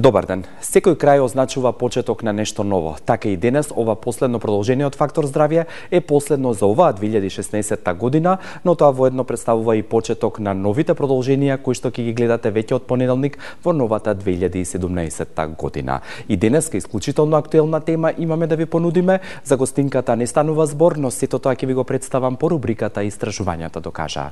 Добар ден. Секој крај означува почеток на нешто ново. Така и денес ова последно продолжение од Фактор здравје е последно за оваа 2016 година, но тоа воедно представува и почеток на новите продолженија кои што ќе ги гледате веќе од понеделник во новата 2017 година. И денеска исклучително актуелна тема имаме да ви понудиме. За гостинката не станува збор, но сето тоа ќе ви го представам по рубриката Истражувањата докажаа.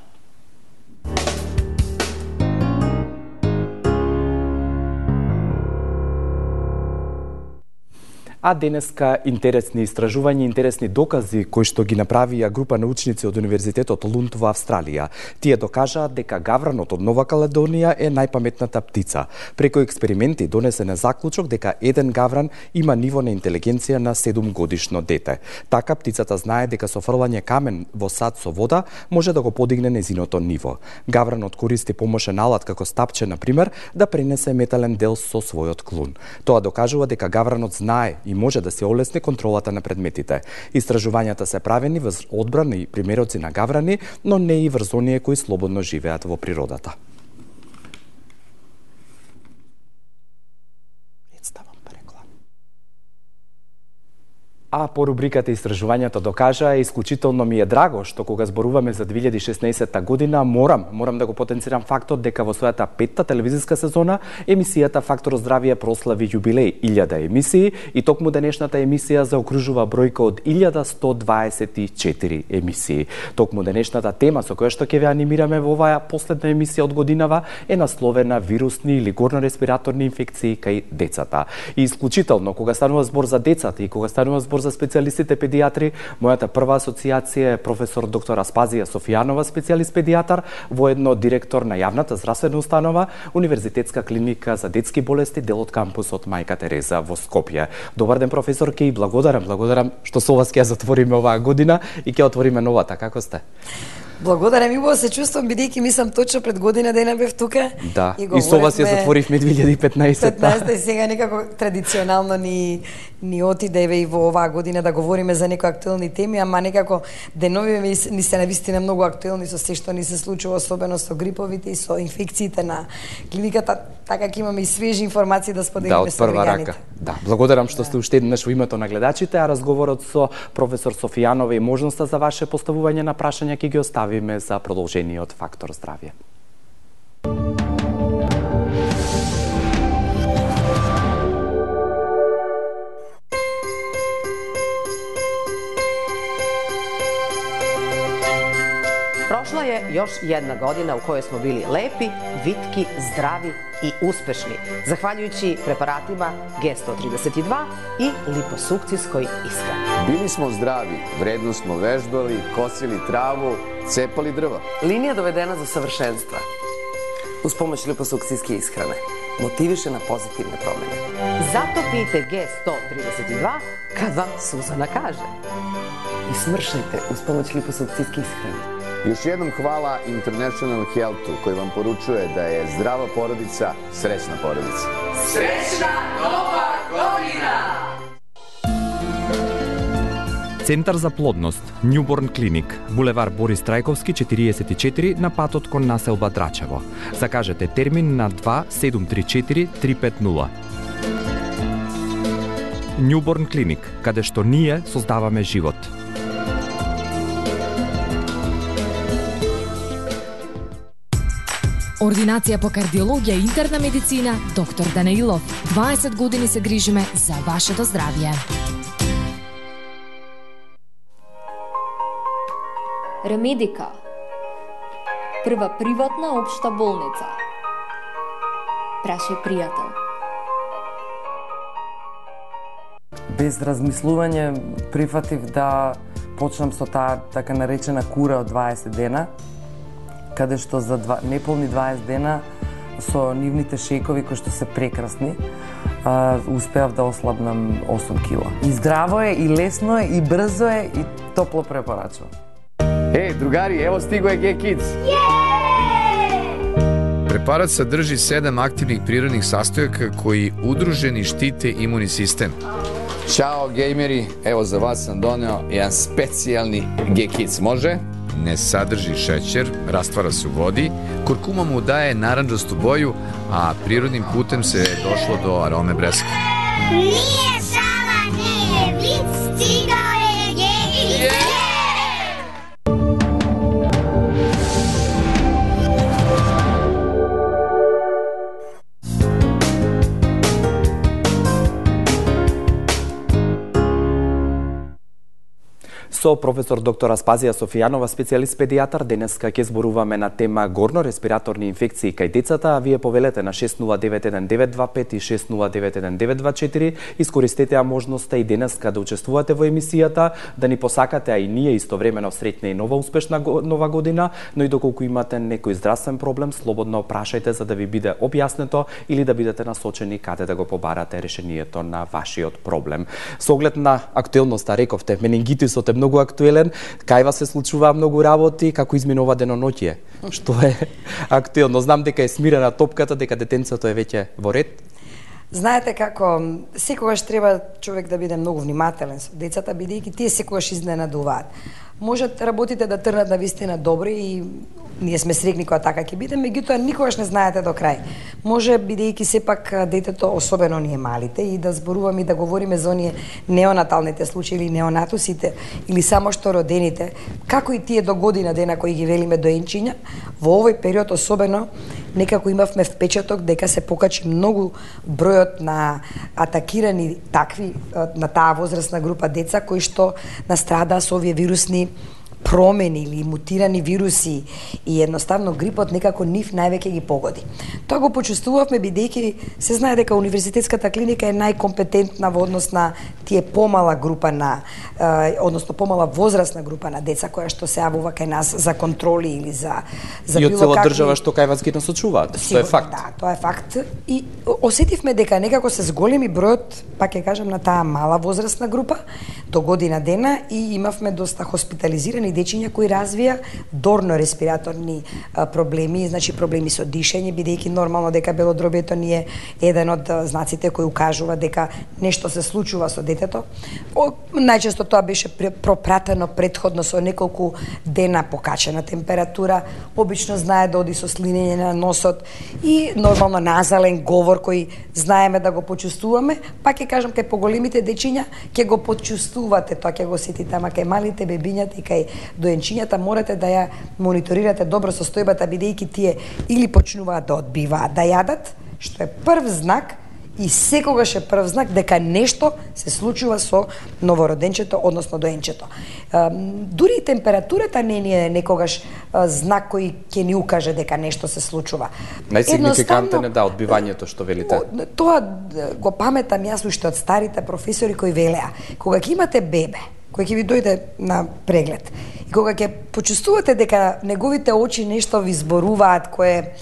А денеска интересни истражувања, интересни докази кои што ги направија група научници од Универзитетот Лунд во Австралија. Тие докажаат дека гавранот од Нова Каледонија е најпаметната птица. Преку експерименти донесен е заклучок дека еден гавран има ниво на интелигенција на 7-годишно дете. Така птицата знае дека со фрлање камен во сад со вода може да го подигне незиното ниво. Гавранот користи помошен алат како стапче, на пример, да пренесе метален дел со својот клун. Тоа докажува дека гавранот знае и може да се олесни контролата на предметите. Истражувањата се правени врз одбрана и примероци на гаврани, но не и врз оние кои слободно живеат во природата. А по рубриката Истражувањата докажаа, исклучително ми е драго што кога зборуваме за 2016 година, морам да го потенцирам фактот дека во својата 5-та телевизиска сезона емисијата Фактор здравје прослави јубилеј 1000 емисии и токму денешната емисија заокружува бројка од 1124 емисии. Токму денешната тема со која што ќе ве анимираме во оваа последна емисија од годинава е насловена вирусни или горно-респираторни инфекции кај децата. И исклучително кога станува збор за децата и кога станува збор за специјалистите педиатри, мојата прва асоциација е професор доктор Аспазија Софијанова, специјалист педиатар, воедно директор на јавната здравствена установа Универзитетска клиника за детски болести, дел од кампусот Мајка Тереза во Скопје. Добар ден, професорке, и благодарам што со вас ќе затвориме оваа година и ќе отвориме новата. Како сте? Благодарам, и убаво се чувствам, бидејќи мислам точно пред година дена бев тука. Да, и со вас ја затворивме 2015. И сега некако традиционално ни отидеве и во оваа година да говориме за некои актуелни теми, ама некако деновиве ни се навистина многу актуелни со се што ни се случува, особено со гриповите и со инфекциите на клиниката, така ќе имаме и свежи информации да споделиме со граѓаните. Да, благодарам што сте уште еднаш во името на гледачите, а разговорот со професор Софијанова и можноста за ваше поставување на прашања ќе ги оставиме за продолжениот Фактор здравје. Прошла je još jedna godina u kojoj smo bili lepi, vitki, zdravi i uspešni, zahvaljujući preparatima G132 i liposukcijskoj ishrani. Bili smo zdravi, vredno smo vežbali, kosili travu, cepali drva. Linija dovedena do savršenstva uz pomoć liposukcijske ishrane motiviše na pozitivne promene. Zato pijte G132 kad vam Suzana kaže. I smršajte uz pomoć liposukcijske ishrane. Još jednom hvala International Healthu koji vam poručuje da je zdrava porodica srećna porodica. Srećna Nova godina! Центар за плодност, Newborn Clinic, булевар Борис Трајковски 44 на патот кон населба Драчево. Закажете термин на 2734 350. Newborn Clinic, каде што ние создаваме живот. Ординација по кардиологија и интерна медицина, доктор Данаилов. 20 години се грижиме за вашето здравје. Ремедика. Прва приватна општа болница. Прашај пријател. Без размислување прифатив да почнам со таа така наречена кура од 20 дена, каде што за неполни 20 дена со нивните шејкови кои што се прекрасни, успеав да ослабнам 8 кила. И здраво е, и лесно е, и брзо е, и топло препорачувам. Другари, ево стиго е G-Kids! Препарат садржи 7 активних природних састојака кои удружени штите имуни систем. Ćao, gejmeri, evo za vas sam doneo jedan specijalni G-Kids, može? не saдрži šećer, rastvara se u vodi, kurkuma mu daje naranđastu boju, a prirodnim putem se došlo do arome breska. Nije šala, nije vic, stigao je Jević. Со професор доктор Аспазија Софијанова, специјалист педијатар, денеска ќе зборуваме на тема горно-респираторни инфекции кај децата, а вие повелете на 6091925 и 6091924. Искористете ја можноста и денеска да учествувате во емисијата, да ни посакате, а и ние истовремено среќна и нова успешна нова година, но и доколку имате некој здравствен проблем, слободно прашајте за да ви биде објаснето или да бидете насочени каде да го побарате решението на вашиот проблем. Со оглед на актуелноста, рековте, менингитисот е многу актуелен, кај вас се случуваа многу работи, како изминува деноноќие. Што е актуелно? Знам дека е смирена топката, дека детенцето е веќе во ред. Знаете како, секогаш треба човек да биде многу внимателен со децата, бидејќи тие секогаш изненадуваат. Можат работите да трнат на вистина добри и ние сме среќни кога така ќе биде, меѓутоа никогаш не знаете до крај. Може бидејќи сепак детето, особено ние малите, и да зборуваме и да говориме за оние неонаталните случаи или неонатусите или само што родените, како и тие до година дена кои ги велиме доенчиња, во овој период особено некако имавме впечаток дека се покачи многу бројот на атакирани такви на таа возрастна група деца кои што настрадаа со овие вирусни промени или мутирани вируси и едноставно грипот некако нив највеќе ги погоди. Тоа го почувствувавме бидејќи се знае дека универзитетската клиника е најкомпетентна во однос на тие помала група на односно помала возрастна група на деца која што се јавува кај нас за контроли или за било какви. И од цела држава што кај вас ги насочуваат. Тоа е факт. Да, тоа е факт. И осетивме дека некако се зголеми бројот, пак ќе кажам, на таа мала возрастна група до година дена и имавме доста хоспитализирани дечиња кои развија дорно-респираторни проблеми, значи проблеми со дишење, бидејќи нормално дека белодробието ни е еден од знаците кои укажува дека нешто се случува со детето. Најчесто тоа беше пропратено претходно со неколку дена покачена температура, обично знае да оди со слинење на носот и нормално назален говор кој знаеме да го почувствуваме, пак ќе кажам кај поголемите дечиња ќе го почувствувате, тоа ќе го сетите, ама кај малите бебињата и кај доенчињата морате да ја мониторирате добро состојбата, бидејќи тие или почнуваат да одбиваат да јадат, што е прв знак и секогаш е прв знак дека нешто се случува со новороденчето, односно доенчето. Дури и температурата не е некогаш знак кој ќе ни укаже дека нешто се случува. Најсигнификантен е одбивањето што велите. Тоа го паметам јас уште од старите професори кои велеа, кога ќе имате бебе кој ќе ви дојде на преглед и кога ќе почувствувате дека неговите очи нешто ви зборуваат, кое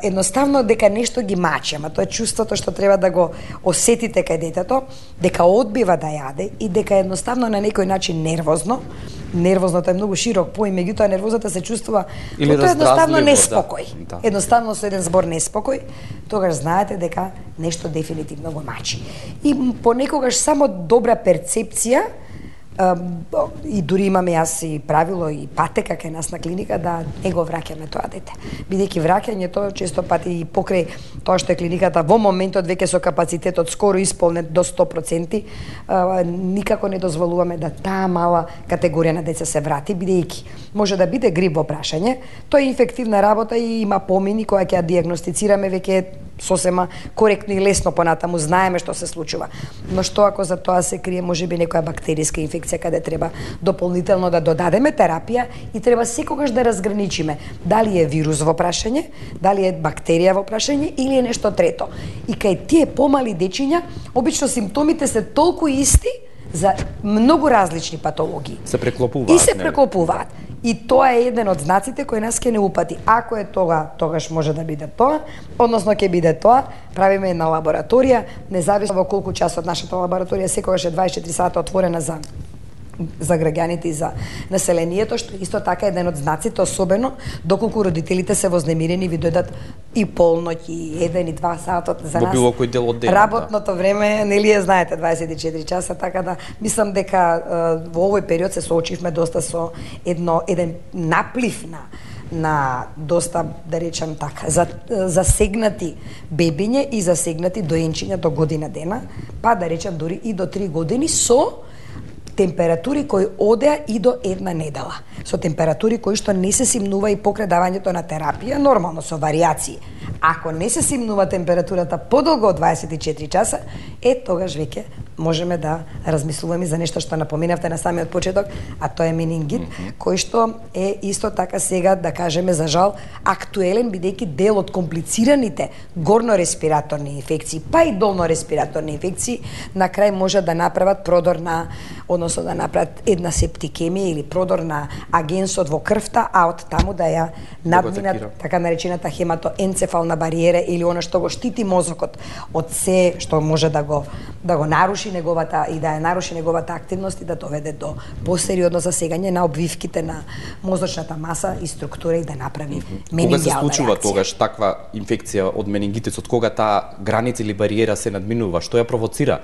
едноставно дека нешто ги мачи, ама тоа е чувството што треба да го осетите кај детето, дека одбива да јаде и дека едноставно на некој начин нервозното е многу широк поим, меѓутоа нервозата се чувствува тоа едноставно неспокој. Да. Едноставно со еден збор неспокој, тогаш знаете дека нешто дефинитивно го мачи. И понекогаш само добра перцепција и дури имаме јас и правило и патека кај нас на клиника да не го враќаме тоа дете. Бидејќи враќањето често пати и покрај тоа што е клиниката во моментот веќе со капацитетот скоро исполнет до 100%, никако не дозволуваме да таа мала категорија на деца се врати, бидејќи може да биде грип во прашање, тоа е инфективна работа и има помини која ќе ја дијагностицираме веќе сосема коректно и лесно понатаму, знаеме што се случува. Но што ако за тоа се крие можеби некоја бактериска инфекција каде треба дополнително да додадеме терапија и треба секогаш да разграничиме дали е вирус во прашање, дали е бактерија во прашање или е нешто трето. И кај тие помали дечиња обично симптомите се толку исти за многу различни патологии. Се преклопуваат. И се преклопуваат. И тоа е еден од знаците кој нас ќе не упати. Ако е тогаш може да биде тоа, односно ќе биде тоа, правиме една лабораторија, независно во колку часот нашата лабораторија секогаш е 24 сата отворена за за граѓаните и за населението, што исто така е еден од знаците, особено доколку родителите се вознемирени, ви дојдат и полноќ, и 1 и 2 сатот за нас. Во било кој дел од денот. Работното време, нели е, знаете, 24 часа, така да мислам дека во овој период се соочивме доста со еден наплив на доста, да речам така, засегнати бебиња и засегнати доенчиња до година дена, па да речам дури и до 3 години со температури кои одеа и до 1 недела. Со температури кои што не се симнува и покрај давањето на терапија, нормално со варијации. Ако не се симнува температурата подолго од 24 часа, тогаш веќе можеме да размислуваме за нешто што напоминавте на самиот почеток, а тоа е менингит, кој што е исто така сега, да кажеме, за жал, актуелен, бидејќи дел од комплицираните горно-респираторни инфекции, па и долно-респираторни инфекции, на крај може да направат продор на, односно да направат една септикемија или продор на агенсот во крвта, а од таму да ја надминат така наречената хематоенцефална бариера или она што го штити мозокот од се што може да го наруши неговата и да ја наруши неговата активност и да доведе до посериозно засегање на обвивките на мозочната маса и структура и да направи менингиална реакција. Кога се случува тогаш таква инфекција од менингитисот, кога таа граница или бариера се надминува, што ја провоцира?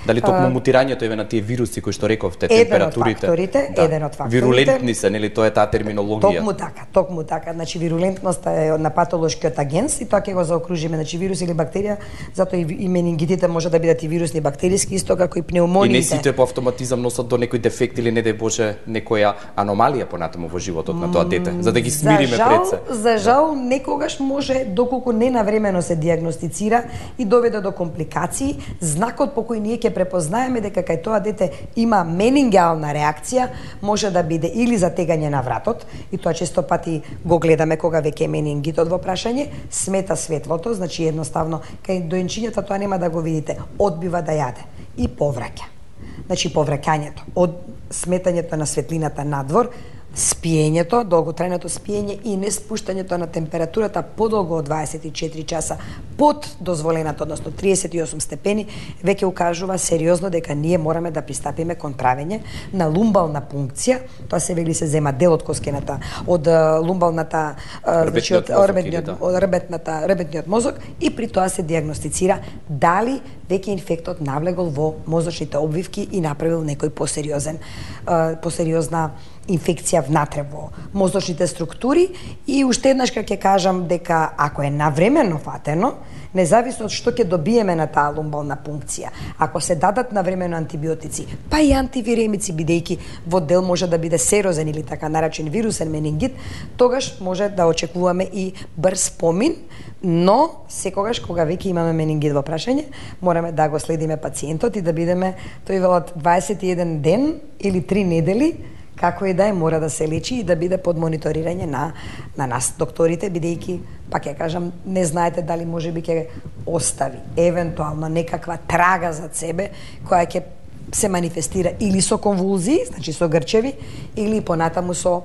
Дали токму мутирањето еве на тие вируси кои што рековте, температурите? Еден од факторите. Вирулентни се, нели, тоа е таа терминологија. Токму така. Значи вирулентноста е на патолошкиот агенс и тоа ќе го заокружиме, значи вирус или бактерија, затоа и менингитите може да бидат и вирусни и бактериски, исто како и пнеумониите. И не сите по автоматизам носат до некој дефект или не дај Боже некоја аномалија понатаму во животот на тоа дете, за да ги смириме пред се. За жал, некогаш може, доколку не навремено се диагностицира и доведе до компликации, знакот по кој ние ќе препознаеме дека кај тоа дете има менингиална реакција, може да биде или затегање на вратот, и тоа често пати го гледаме кога веќе е менингитот во прашање, смета светлото, значи едноставно кај доенчињата тоа нема да го видите, одбива да јаде и повраќа. Значи повраќањето, од сметањето на светлината надвор, спиењето, долготрајното спиење и не спуштањето на температурата подолго од 24 часа под дозволената, односно 38 степени, веќе укажува сериозно дека ние мораме да пристапиме кон правење на лумбална пункција. Тоа се вели се зема дел од коскената, од лумбалната, значи од ребетниот мозок, и при тоа се диагностицира дали веќе инфектот навлегол во мозочните обвивки и направил некој посериозна инфекција внатре во мозочните структури. И уште еднаш ќе кажам дека ако е навремено фатено, независно од што ќе добиеме на таа лумбална пункција, ако се дадат навремено антибиотици, па и антивиремици, бидејќи во дел може да биде серозен или така наречен вирусен менингит, тогаш може да очекуваме и брз помин, но секогаш кога веќе имаме менингит во прашање, мораме да го следиме пациентот и да бидеме, тој велат, 21 ден или 3 недели, како и да е, мора да се лечи и да биде под мониторирање на нас докторите, бидејќи, пак ја кажам, не знаете дали можеби ќе остави евентуално некаква трага зад себе која ќе се манифестира или со конвулзии, значи со грчеви, или понатаму со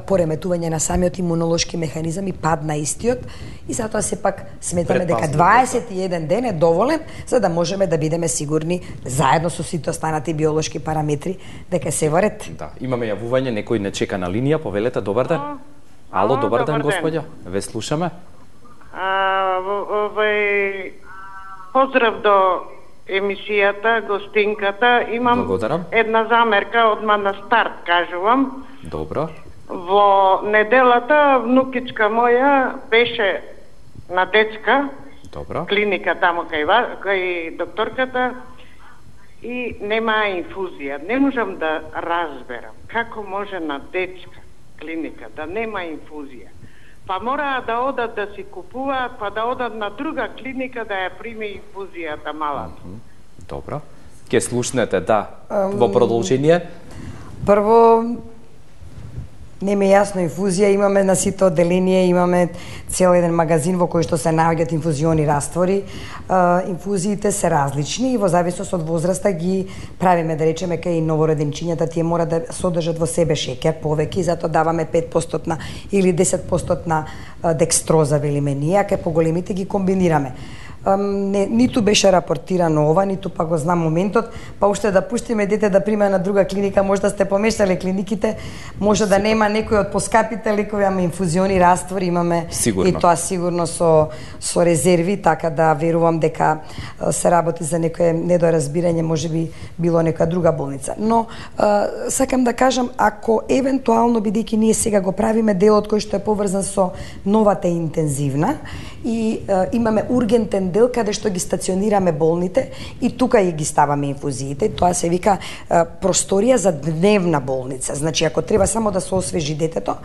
пореметување на самиот имунолошки механизам и пад на истиот, и затоа сепак сметаме дека 21 ден е доволен за да можеме да бидеме сигурни заедно со сите останати биолошки параметри дека се во ред. Да, имаме јавување, некој не чека на линија, повелете, добар ден. Ало, добар ден, господја. Ве слушаме. Поздрав до емисијата, гостинката. Имам една замерка одма на старт, кажувам. Добро. Во неделата внукичка моја беше на детска клиника таму кај докторката и нема инфузија. Не можам да разберам како може на детска клиника да нема инфузија. Па мора да одат да си купуваат, па да одат на друга клиника да ја приме инфузијата малата. Добро. Ке слушнете, да. Во продолжение? Прво, не ми е јасно инфузија, имаме на сите одделенија, имаме цел еден магазин во кој што се наоѓаат инфузиони раствори. Инфузиите се различни и во зависност од возраста ги правиме, да речеме, кај новороденчињата, тие мора да содржат во себе шеќер повеќе и затоа даваме 5% или 10% декстроза, велиме ние, а кај поголемите ги комбинираме. ниту беше рапортирано ова, ниту па го знам моментот, па уште да пуштиме дете да прима на друга клиника, може да сте помешале клиниките, може да нема некој од поскапите лекови, ама инфузиони, раствори имаме сигурно. И тоа сигурно со резерви, така да верувам дека се работи за некое недоразбирање, можеби било некоја друга болница. Но сакам да кажам, ако евентуално, бидејќи ние сега го правиме делот кој што е поврзан со новата интензивна и имаме ургентен дел каде што ги стационираме болните и тука ги ставаме инфузиите, тоа се вика просторија за дневна болница. Значи ако треба само да се освежи детето,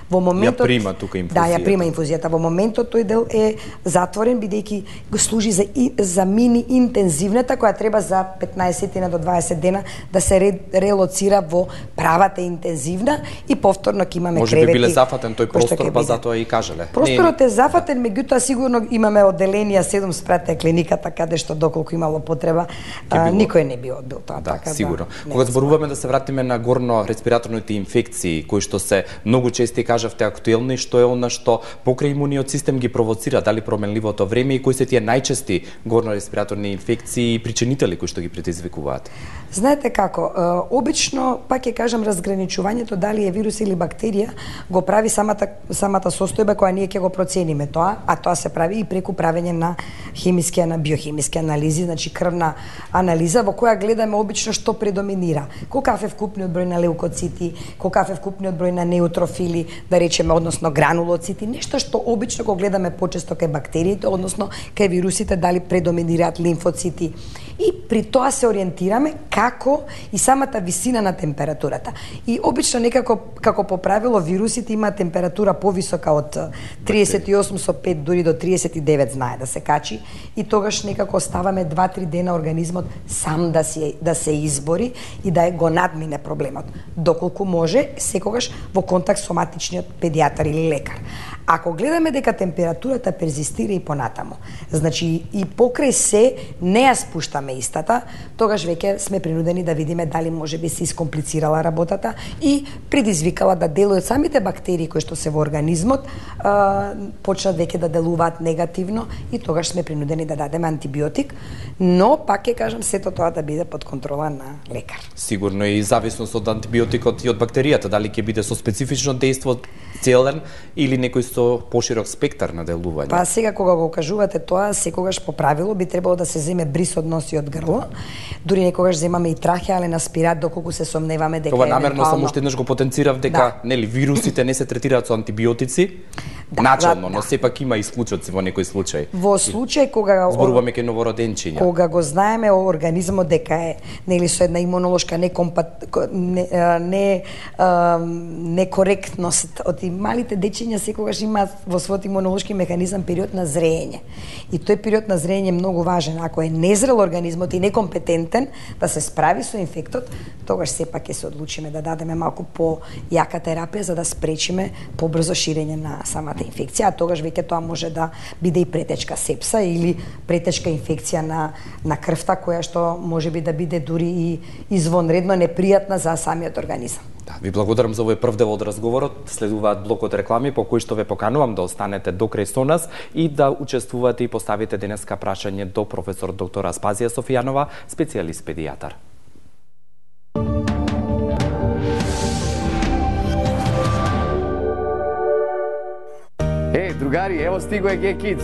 во моментот ја прима тука инфузијата. Да, ја прима инфузијата. Во моментот тој дел е затворен бидејќи го служи за мини интензивната која треба за 15 до 20 дена да се релоцира во правата интензивна и повторно ќе имаме кревети. Може би биле зафатен тој простор, па затоа и кажале. Просторот е зафатен, меѓутоа сигурно имаме одделенија 7 спрате клиниката каде што доколку имало потреба, никој не би одбил тоа. Да, така, сигурно. Кога зборуваме да се вратиме на горно респираторните инфекции, кои што се многу чести кажавте актуелни, што е она што покрај имуниот систем ги провоцира, дали променливото време и кои се тие најчести горно респираторни инфекции и причинители кои што ги предизвикуваат? Знаете како, обично, пак ќе кажам, разграничувањето дали е вирус или бактерија го прави самата состојба која ние ќе го процениме тоа, а тоа се прави и преку правење на биохимиски анализи, значи крвна анализа во која гледаме обично што предоминира. Колкав е вкупниот број на леукоцити, колкав е вкупниот број на неутрофили, да речеме, односно гранулоцити, нешто што обично го гледаме почесто кај бактериите, односно кај вирусите, дали предоминираат лимфоцити. И при тоа се ориентираме како и самата висина на температурата. И обично некако, како по правило, вирусите имаат температура повисока од 38,5 дури до 39 знае да се качи и тогаш некако оставаме 2-3 дена организмот сам да се избори и да го надмине проблемот. Доколку може, секогаш во контакт со матичниот педијатар или лекар. Ако гледаме дека температурата перзистира и понатаму, значи и покрај се не ја спуштаме истата, тогаш веќе сме принудени да видиме дали може би се искомплицирала работата и предизвикала да дел од самите бактерии кои што се во организмот почнат веќе да делуваат негативно и тогаш сме принудени да дадеме антибиотик, но пак ќе кажам сето тоа да биде под контрола на лекар. Сигурно и зависност од антибиотикот и од бактеријата, дали ќе биде со специфично дејство целен или некој со поширок спектар на делување. Па сега кога го кажувате тоа, секогаш по правило би требало да се земе брис од нос и од грло. Дури некогаш земаме и трахеален аспират доколку се сомневаме дека тоа намерно само уште еднаш го потенцирав дека нели вирусите не се третираат со антибиотици. Начално, но сепак има исклучоци во некој случај. Во случај кога зборуваме кај новороденчиња. Кога го знаеме организмот дека е нели со една имунолошка некоректност од малите дечиња секогаш имаат во својот имунолошки механизам период на зреење. И тој период на зреење е многу важен. Ако е незрел организмот и некомпетентен да се справи со инфектот, тогаш сепак ќе се одлучиме да дадеме малку по-јака терапија за да спречиме побрзо ширење на самата инфекција, а тогаш веќе тоа може да биде и претечка сепса или претечка инфекција на крвта која што може би да биде дури и извонредно непријатна за самиот организам. Да, ви благодарам за овој прв дел од разговорот. Следуваат блокот реклами по кој што ве поканувам да останете до крај со нас и да учествувате и поставите денеска прашање до професор доктор Аспазија Софијанова, специјалист педијатар. Другари, ево стиго е G-Kids.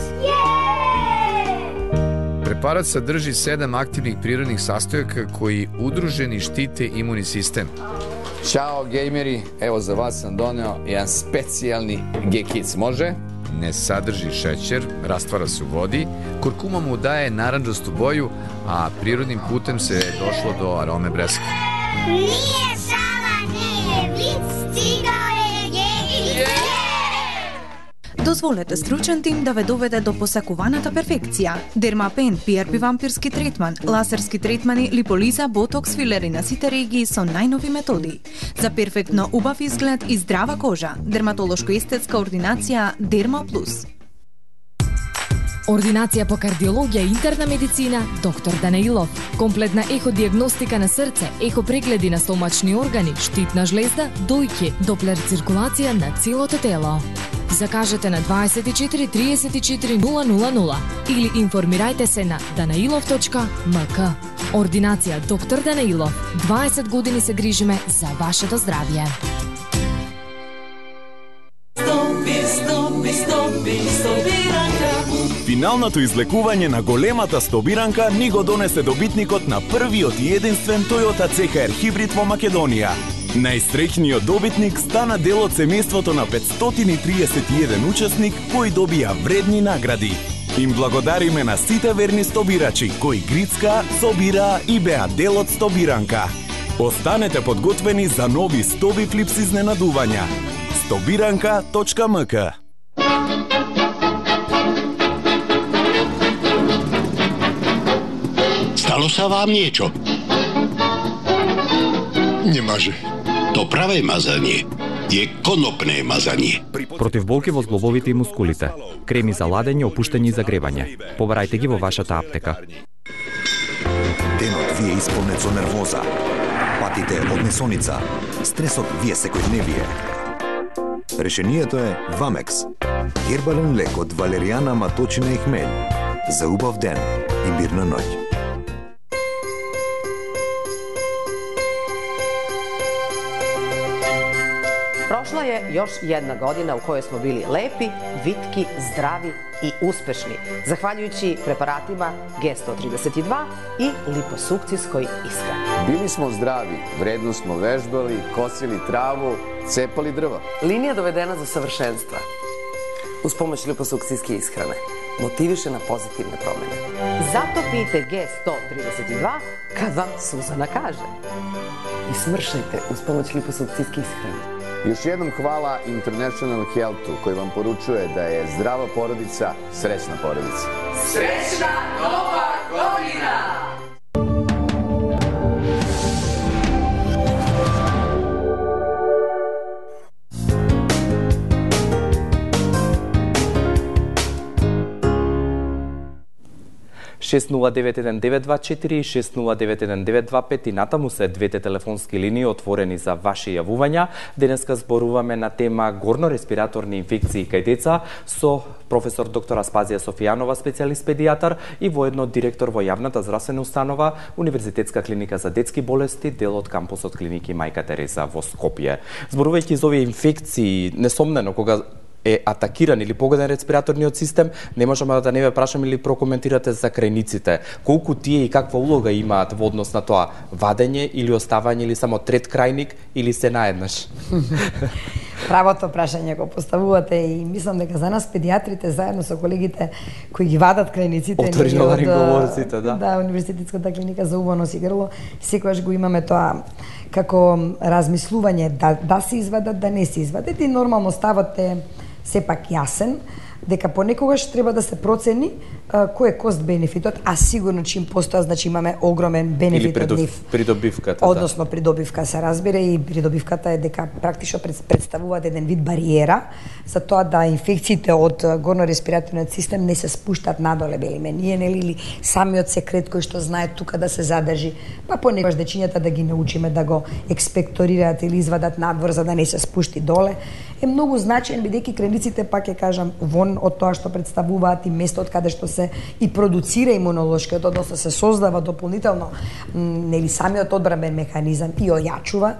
Препарат садржи 7 активних природних састојака кои удружени штите имуни систем. Чао, геймери, ево за вас сам донео еден специјални G-Kids, може? Не садржи шеќер, раствара се у води, куркума му дае наранџасту боју, а природним путем се дошло до ароме бреска. Nije šala, nije vic, stigao je G-Kids. Дозволете стручен тим да ве доведе до посакуваната перфекција. Дермапен, PRP вампирски третман, лазерски третмани, липолиза, ботокс, филери на сите регии со најнови методи. За перфектно убав изглед и здрава кожа. Дерматолошко-естетска ординација Дерма Плюс. Ординација по кардиологија и интерна медицина доктор Данеилов. Комплетна еходиагностика на срце, ехопрегледи на стомачни органи, штитна жлезда, дојки, доплер циркулација на целото тело. Закажете на 24 34 000 или информирајте се на danailov.mk. Ординација доктор Данаилов. 20 години се грижиме за вашето здравје. Финалното излекување на големата стобиранка ни го донесе добитникот на првиот и единствен Toyota CHR хибрид во Македонија. Најсреќниот добитник стана дел од семејството на 531 учесник кои добија вредни награди. Им благодариме на сите верни стобирачи кои грицка, собира и беа дел од стобиранка. Останете подготвени за нови стоби флипс изненадувања. Stobiranka.mk. Stalo sa vám niečo? Nemaže. To pravé mazanie je konopné mazanie. Против болки во зглобовите и мускулите. Креми за ладење, опуштање и загревање. Побарајте ги во вашата аптека. Денот ви е исполнет со нервоза. Патите од несоница. Стресот ви е секојдневие. Решението е Вамекс. Гербален лек од валеријана, маточина и хмелј. За убав ден и мирна ноќ. Prošla je još jedna godina u kojoj smo bili lepi, vitki, zdravi i uspešni, zahvaljujući preparatima G132 i liposukcijskoj ishrani. Bili smo zdravi, vredno smo vežbali, kosili travu, cepali drva. Linija dovedena do savršenstva. Uz pomoć liposukcijske ishrane. Motiviše na pozitivne promene. Zato pijte G132 kad vam Suzana kaže. I smršajte uz pomoć liposukcijske ishrane. Još jednom hvala International Healthu koji vam poručuje da je zdrava porodica srećna porodica. Srećna Nova godina! Шест 091-924 и 6091925 и натаму се двете телефонски линии отворени за ваши јавувања. Денеска зборуваме на тема горно-респираторни инфекции кај деца со професор доктор Аспазија Софијанова, специјалист педијатар и воедно директор во јавната здравствена установа Универзитетска клиника за детски болести, дел од кампусот клиники Мајка Тереза во Скопје. Зборувајќи за овие инфекции, несомнено кога е атакиран или погоден респираторниот систем, не можеме да не ве прашаме или прокоментирате за крајниците. Колку тие и каква улога имаат во однос на тоа вадење или оставање или само трет крајник или се наеднаш? Правото прашање го поставувате и мислам дека за нас педијатрите заедно со колегите кои ги вадат крајниците оториноларинголорците, да. Да, Универзитетската клиника за уво нос и грло, секогаш го имаме тоа како размислување да се извадат, да не се извадат и нормално ставот е сепак јасен дека понекогаш треба да се процени кој е кост-бенефитот, а сигурно чим постоја, значи имаме огромен бенефит од нив. Придобивката, односно придобивка се разбира и придобивката е дека практично представуваат еден вид бариера за тоа да инфекциите од горно-респираторниот систем не се спуштат надоле, белиме ние, нели, или самиот секрет кој што знае тука да се задржи, па понекогаш дечињата да ги научиме да го експекторираат или извадат надвор за да не се спушти доле, е многу значаен бидејќи крајниците, пак ќе кажам, вон од тоа што представуваат и местот каде што се и продуцира имунолошкиот, односно се создава дополнително нели самиот одбранбен механизам и ојачува,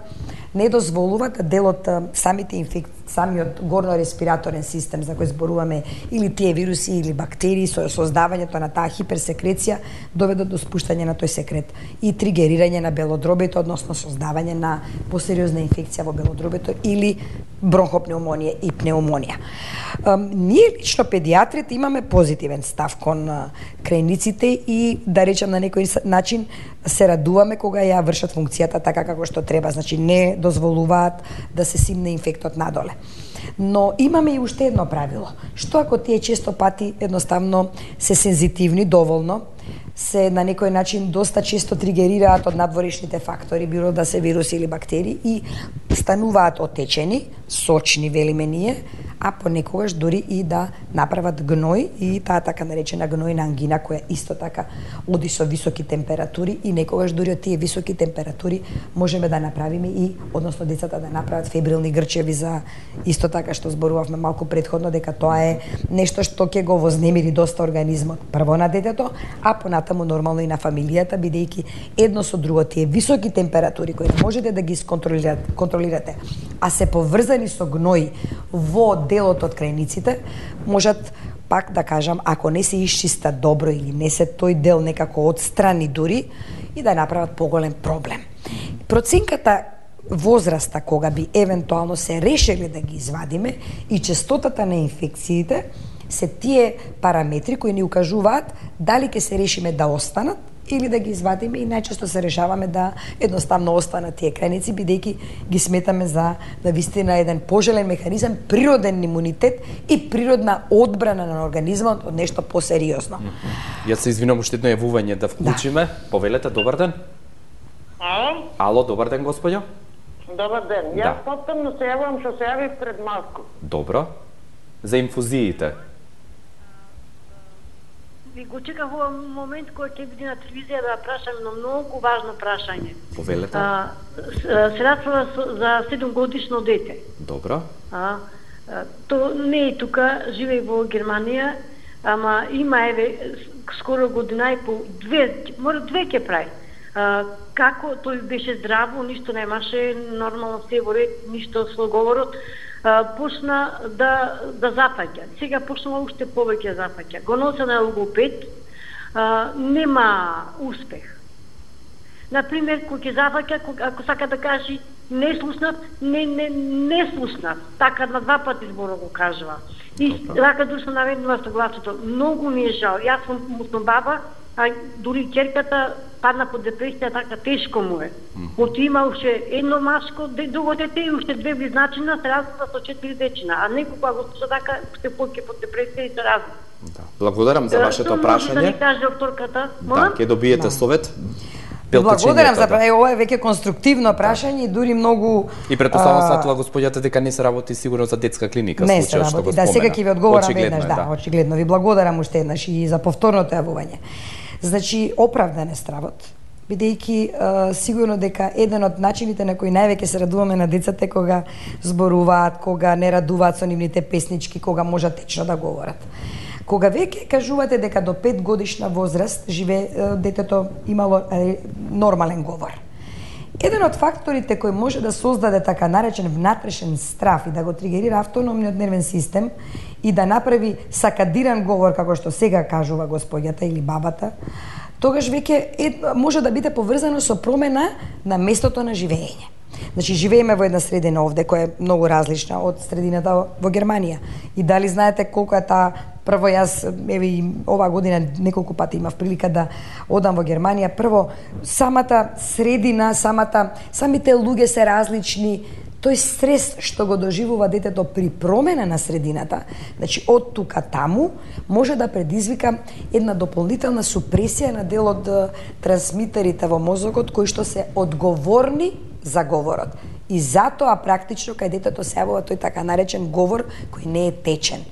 не дозволува да дел од самиот горно-респираторен систем за кој зборуваме или тие вируси или бактерии со создавањето на таа хиперсекреција доведат до спуштање на тој секрет и тригерирање на белодробето, односно создавање на посериозна инфекција во белодробето или бронхопнеумонија и пнеумонија. Ние лично педијатрите имаме позитивен став кон крајниците и да речем на некој начин се радуваме кога ја вршат функцијата така како што треба, значи не дозволуваат да се симне инфектот надоле. Но имаме и уште едно правило. Што ако тие често пати едноставно се сензитивни доволно, се на некој начин доста често тригерираат од надворешните фактори, било да се вируси или бактерии и стануваат отечени, сочни велиме ние, а понекогаш дури и да направат гној и таа така наречена гнојна ангина која исто така оди со високи температури и некогаш дури од тие високи температури можеме да направиме и односно децата да направат фебрилни грчеви за исто така што зборувавме малку претходно дека тоа е нешто што ќе го вознемири доста организмот прво на детето, а понатаму нормално и на фамилијата бидејќи едно со друго тие високи температури кои можете да ги контролирате, а се поврзани со гној во делот од крајниците, можат пак да кажам, ако не се исчиста добро или не се тој дел некако отстрани дури и да направат поголем проблем. Проценката возраста кога би евентуално се решиле да ги извадиме и честотата на инфекциите се тие параметри кои ни укажуваат дали ќе се решиме да останат или да ги извадиме и најчесто се решаваме да едноставно останат тие крајници бидејќи ги сметаме за вистина еден пожелен механизам, природен имунитет и природна одбрана на организмот од нешто посериозно. Јас се извинувам уште едно јавување да вклучиме. Повелете, добар ден. Ало, добар ден, господјо. Добар ден. Јас повторно се јавувам што се јавив пред малку. Добро. За инфузиите. Ви го чекав во момент кој ќе биде на телевизија да прашам едно многу важно прашање. Повелете. Средства за 7 годишно дете. Добро. То не е тука, живее во Германија, ама има скоро година и по две ќе прави. Како тој беше здраво, ништо немаше, нормално се во ред, ништо со говорот, почна да запаќа. Сега почнува уште повеќе запаќа. Го носа на логопед, нема успех. Например, кој ќе запаќа, ако сака да каже не слушнат, не слушнат. Така на 2 пати зборо го кажува. И така душа наведнува со гласото. Многу ми е жал. Јас сум мусно баба, а дури ќерката падна под депресија, така тешко му е. Оти има уште едно машко, друго дете и уште 2 близначина, се разлика со 4 дечина, а некој кога го слуша така, уште повеќе под депресија и се разлика. Благодарам за вашето прашање. Да ни каже докторката, да, ќе добиете совет. Благодарам за ова е веќе конструктивно прашање и дури многу и претпоставам сатува господјата дека не се работи сигурно за детска клиника не се работи, што го спомена. Да, сега ќе ви одговорам веднаш, очигледно ви благодарам уште еднаш и за повторното јавување. Значи, оправдан е стравот, бидејќи сигурно дека еден од начините на кои највеќе се радуваме на децата е кога зборуваат, кога не радуваат со нивните песнички, кога можат течно да говорат. Кога веќе кажувате дека до 5 годишна возраст детето имало нормален говор. Еден од факторите кој може да создаде така наречен внатрешен страф и да го тригерира автономниот нервен систем и да направи сакадиран говор, како што сега кажува господјата или бабата, тогаш веќе може да биде поврзано со промена на местото на живење. Значи, живееме во една средина овде која е многу различна од средината во Германија. И дали знаете колку е таа. Прво, јас, оваа година неколку пати имав прилика да одам во Германија. Прво, самата средина, самите луѓе се различни. Тој стрес што го доживува детето при промена на средината, значи од тука таму, може да предизвика една дополнителна супресија на дел од трансмитерите во мозокот кои што се одговорни за говорот. И затоа практично кај детето се јавува тој така наречен говор кој не е течен.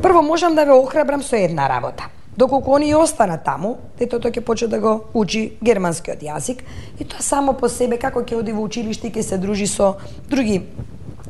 Прво можам да ве охрабрам со една работа. Доколку они останат таму, детето ќе почне да го учи германскиот јазик и тоа само по себе како ќе оди во училиште и ќе се дружи со други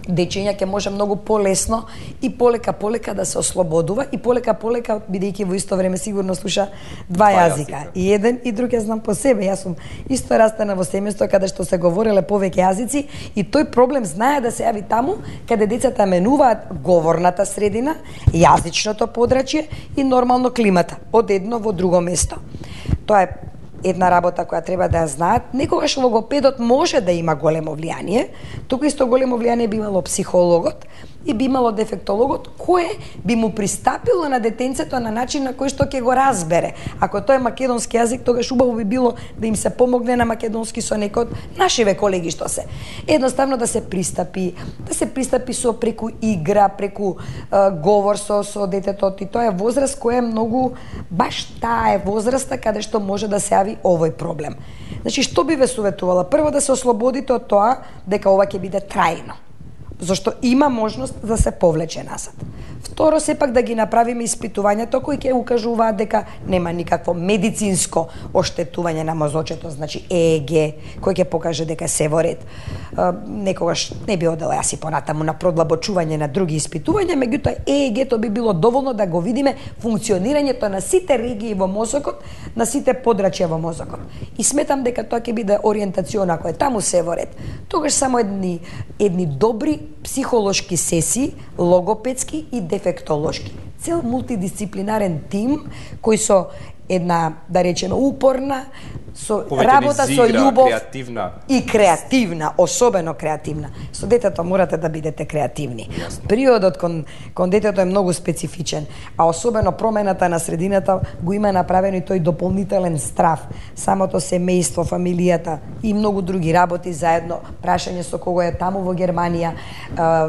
дечиња, ќе може многу полесно и полека да се ослободува и полека бидејќи во исто време сигурно слуша 2 јазика. И еден и друг ја знам по себе. Јас сум исто растена во семејство каде што се говореле повеќе јазици и тој проблем знае да се јави таму каде децата менуваат говорната средина, јазичното подрачје и нормално климата од едно во друго место. Тоа е една работа која треба да ја знаат. Некогаш логопедот може да има големо влијание, туку исто големо влијание би имало психологот и би имало дефектологот, кое би му пристапило на детенцето на начин на кој што ќе го разбере. Ако тоа е македонски јазик, тогаш убаво би било да им се помогне на македонски со некој од нашиве колеги што се. Едноставно да се пристапи со преку игра, преку говор со детето. И тоа е возраст која е многу, баш таа е возраста каде што може да се јави овој проблем. Значи, што би ве советувала? Прво да се ослободите од тоа дека ова ќе биде трајно. зашто има можност да се повлече назад. Второ, сепак да ги направиме испитувањето кои ќе укажуваат дека нема никакво медицинско оштетување на мозочето, значи ЕЕГ, кој ќе покаже дека се во ред. Некогаш не би одела јас и понатаму на продлабочување на други испитувања, меѓутоа ЕЕГ-то би било доволно да го видиме функционирањето на сите регии во мозокот, на сите подрачја во мозокот. И сметам дека тоа ќе биде ориентацион, ако е таму се во ред. Тогаш само едни добри психолошки сесии, логопедски и дефектолошки. Цел мултидисциплинарен тим кој со една, да речеме, упорна, со работа со љубов и креативна, особено креативна. Со детето морате да бидете креативни. Периодот кон детето е многу специфичен, а особено промената на средината го има направено и тој дополнителен страв. Самото семејство, фамилијата и многу други работи заедно. Прашање со кого е таму во Германија,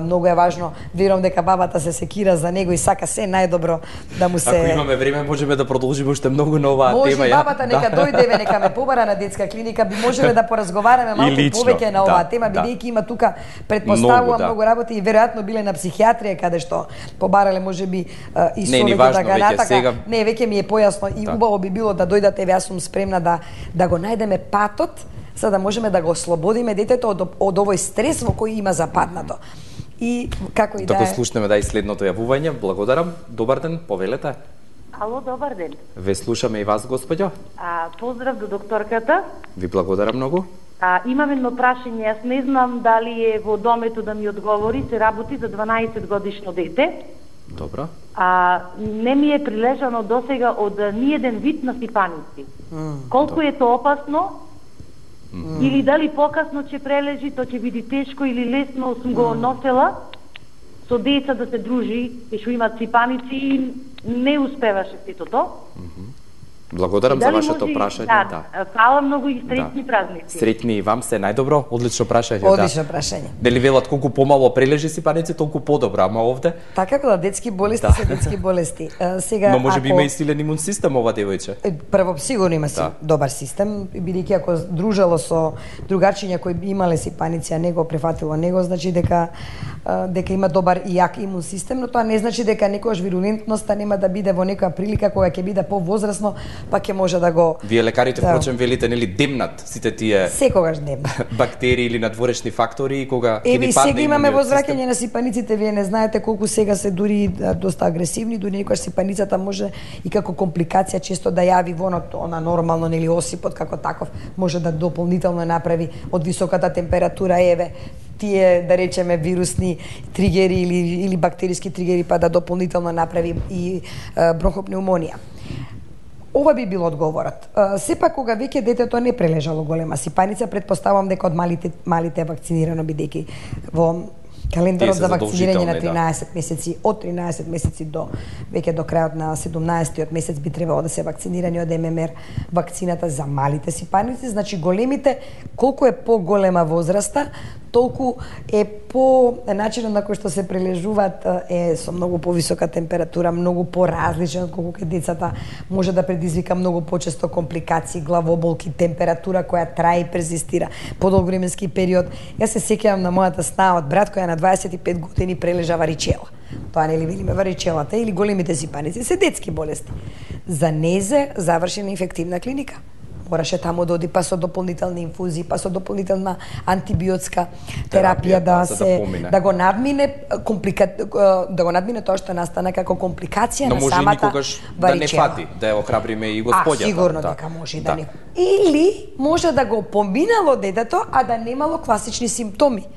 многу е важно. Верувам дека бабата се секира за него и сака се најдобро да му се... Ако имаме време, можеме да продолжиме уште многу на оваа тема. Може бабата нека дојдеме, нека ме побара на детска клиника, би можеле да поразговараме малку повеќе на оваа тема, бидејќи има тука, предпоставувам, многу работи и веројатно биле на психијатрија каде што побарале можеби и совеќе да га натака. Не, веќе ми е појасно и убаво би било да дојдате, јас сум спремна да го најдеме патот, за да можеме да го ослободиме детето од овој стрес во кој има западнато. И како и да е... Така слушнеме и следното јавување. Благодарам. Добар ден, повелете. Ало, добар ден. Ве слушаме и вас, господјо. Поздрав до докторката. Ви благодарам многу. Имам едно прашање, јас не знам дали е во домето да ми одговори, се работи за 12 годишно дете. Добро. Не ми е прилежано досега од ниеден вид на сипаници. Колку е тоа опасно? Или дали покасно ќе прележи, тоа ќе биде тешко или лесно, сум го носела со деца да се дружи, што имат сипаници и не успеваше сето тоа. Благодарам за вашето прашање. Да. Фала многу и среќни празници. Среќни и вам се најдобро. Одлично прашање. Одлично прашање. Дали велат колку помало прележи сипаници, толку подобро, ама овде? Така кога детски болести се детски болести. Сега но можеби има и силен имун систем ова девојче. Прво сигурно има добар систем, бидејќи ако дружело со другарчиња кои имале сипаници, а не го префатило него, значи дека има добар и јак имун систем, но тоа не значи дека некојаш вирулентноста нема да биде во некоја прилика кога ќе биде повозрасно, па ќе може да го... Вие лекарите, впрочем, велите, нели, демнат сите тие... Секогаш демнат. Бактерии или надворешни фактори, и кога ќе ни падне... Сега имаме возвраќање на сипаниците, вие не знаете колку сега се дури доста агресивни, дури некојаш сипаницата може и како компликација често да јави во она нормално, нели, осипот како таков, може да дополнително направи од високата температура, еве, тие, да речеме, вирусни тригери или бактериски тригери, па да дополнително направи и бронхопнеумонија. Ова би бил одговорот. Сепак кога веќе детето не прележало голема сипаница, предпоставувам дека од малите е вакцинирано, бидејќи во календарот за вакцинирање на 13 месеци, од 13 месеци до веќе до крајот на 17-тиот месец би требало да се вакцинирани од ММР вакцината за малите сипаници, значи големите, колку е поголема возраста, толку е по начинот на кој што се прележуваат е со многу повисока температура, многу поразличен од колку децата, може да предизвика многу почесто компликации, главоболки, температура која трае и перзистира подолг временски период. Јас се сеќавам на мојата снаот брат која на 25 години прележа варичела. Тоа нели велиме варичелата или големите сипаници се детски болести. За незе заврши на инфективна клиника. Мораше таму да оди па со дополнителни инфузии, па со дополнителна антибиотска терапија да го надмине да го надмине тоа што настана како компликација на самата варичела. Да не фати, да ја охрабриме и господјата. Сигурно дека може да не. Или може да го поминало детето, а да немало класични симптоми.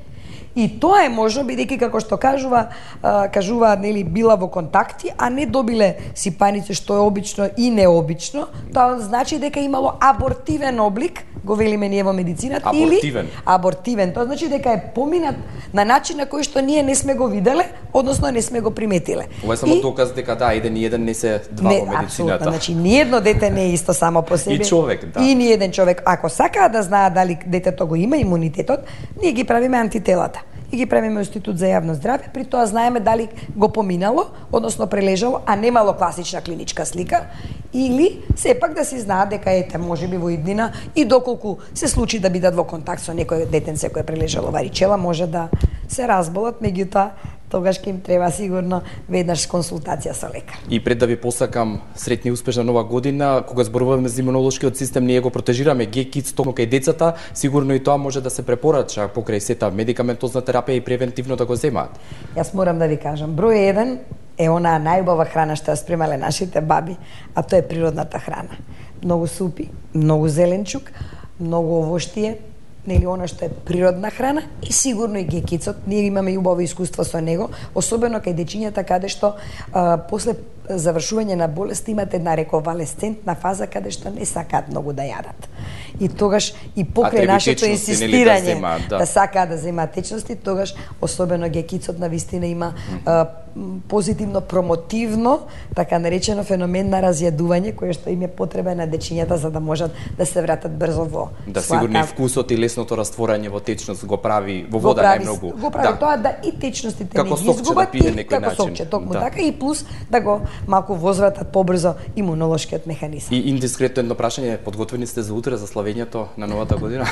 И тоа е можно, бидејќи како што кажуваат, нели, била во контакти, а не добиле сипаници, што е обично и необично, тоа значи дека имало абортивен облик, го велиме ние во медицината, или абортивен, тоа значи дека е поминат на начин на кој што ние не сме го виделе, односно не сме го приметиле. Ова е само доказ дека еден и еден не се два во медицината. Апсолутно, значи ниедно дете не е исто само по себе. И човек, да. И ниеден човек. Ако сакаат да знаат дали детето го има имунитетот, ние ги правиме антителата. И ги правиме Институт за јавно здравје, при тоа знаеме дали го поминало, односно прележало, а немало класична клиничка слика, или сепак да си знаат дека ете можеби во иднина и доколку се случи да бидат во контакт со некој детенце кој е прележало варичела, може да се разболат, меѓутоа тогаш ќе им треба сигурно веднаш консултација со лекар. И пред да ви посакам среќна и успешна нова година, кога зборуваме за имунолошкиот систем, ние го протежираме ГКИДС токму кај децата, сигурно и тоа може да се препорача покрај сета медикаментозна терапија и превентивно да го земаат. Јас морам да ви кажам, број 1 е онаа најубава храна што ја спремале нашите баби, а тоа е природната храна. Многу супи, многу зеленчук, многу овоштие, нели она што е природна храна и сигурно и ГКИДСот, ние имаме и убаво искуство со него, особено кај дечињата каде што после завршување на болест имате една рековалесцентна фаза каде што не сакаат многу да јадат. И тогаш и покрај нашето инсистирање да сакаат да земаат течности, тогаш особено ГКИДСот навистина има позитивно промотивно, така наречено феномен на разјадување кој што им е потребен на дечињата за да можат да се вратат брзо во да сигурно и вкусот и лесното растворање во течност го прави во вода најмногу. Го прави тоа да и течностите не ги изгубат и како сокче, токму така и плюс да го малку возвратат побрзо имунолошкиот механизам. И индискретно едно прашање, подготвени сте за утре за славењето на новата година?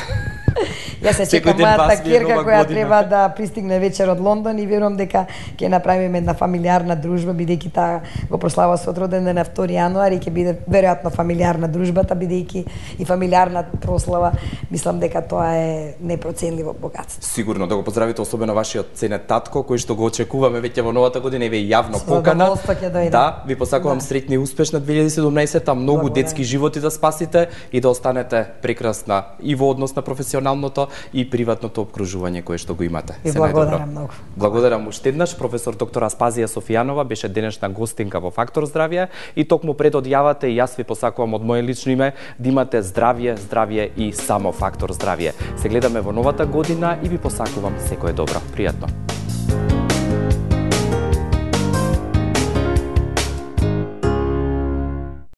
Јас се чекам мојата ќерка која треба да пристигне вечер од Лондон и верувам дека ќе направиме една фамилиарна дружба, бидејќи таа го прослава со роден ден на 2 јануари, ќе биде веројатно фамилиарна дружбата, бидејќи и фамилиарна прослава, мислам дека тоа е непроценливо богатство. Сигурно да го поздравите особено вашиот ценет татко кој што го очекуваме веќе во новата година и ве јавно покана. Да, ви посакувам среќна и успешна 2017-та, многу детски животи да спасите и да останете прекрасна и во однос на професионалното и приватното обкружување кое што го имате. И благодарам многу. Благодарам уште еднаш. Професор доктор Аспазија Софијанова беше денешна гостинка во Фактор здравје и токму пред одјавата и јас ви посакувам од моје лично име да имате здравје, здравје и само Фактор здравје. Се гледаме во новата година и ви посакувам секое добро. Пријатно.